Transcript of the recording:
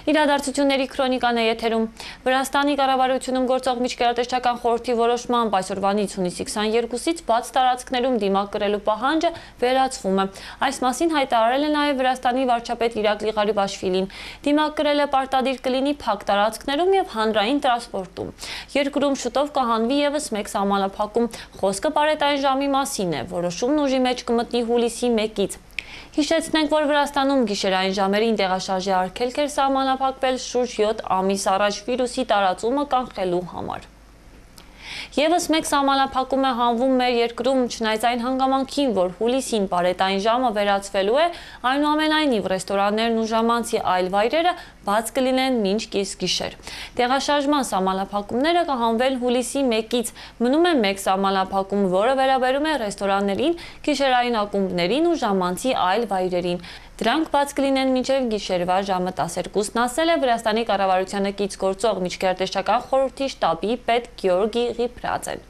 Իրադարձությունների քրոնիկան է եթերում։ Վրաստանի կառավարությունում գործող միջկերատեսչական խորհրդի որոշմամբ այսօրվանից հունիսի 22-ից բաց տարածքներում դիմակ կրելու պահանջը վերացվում է։ Այս մասին հայտարարել է նաև Վրաստանի վարչապետ Իրակլի Ղարիբաշվիլին։ Դիմակ կրելը պարտադիր կլինի փակ տարածքներում եւ հանրային տրանսպորտում։ Երկրում շուտով կհանվի եւս մեկ սահմանափակում։ Խոսքը պարետային ժամի մասին է։ Որոշումն ուժի մեջ կմտնի հուլիսի 1-ից։ Հիշեցնենք, որ Վրաստանում գիշերային ժամերին տեղաշարժի արգելք էր սահմանափակվել շուրջ 7 ամիս առաջ վիրուսի տարածումը կանխելու համար։ Եվս մեկ սահմանափակում է հանվում մեր երկրում, չնայած այն հանգամանքին, որ հուլիսին պարետային ժամը վերացվելու է, այնուամենայնիվ ռեստորաններն ու ժամանցի այլ վայրերը բաց կլինեն մինչ կեսգիշեր։ Տեղաշարժման սահմանափակումները կհանվեն հուլիսի 1-ից, մնում է մեկ սահմանափակում, որը վերաբերում է ռեստորաններին, գիշերային ակումբներին ու ժամանցի այլ վայրերին։ Դրանք բաց կլինեն մինչև գիշերվա ժամը 12-ն, ասել է Վրաստանի կառավարությանը կից գործող միջկերատեսչական խորհրդի շտաբի պետ Գեորգի Ղիփրաձեն։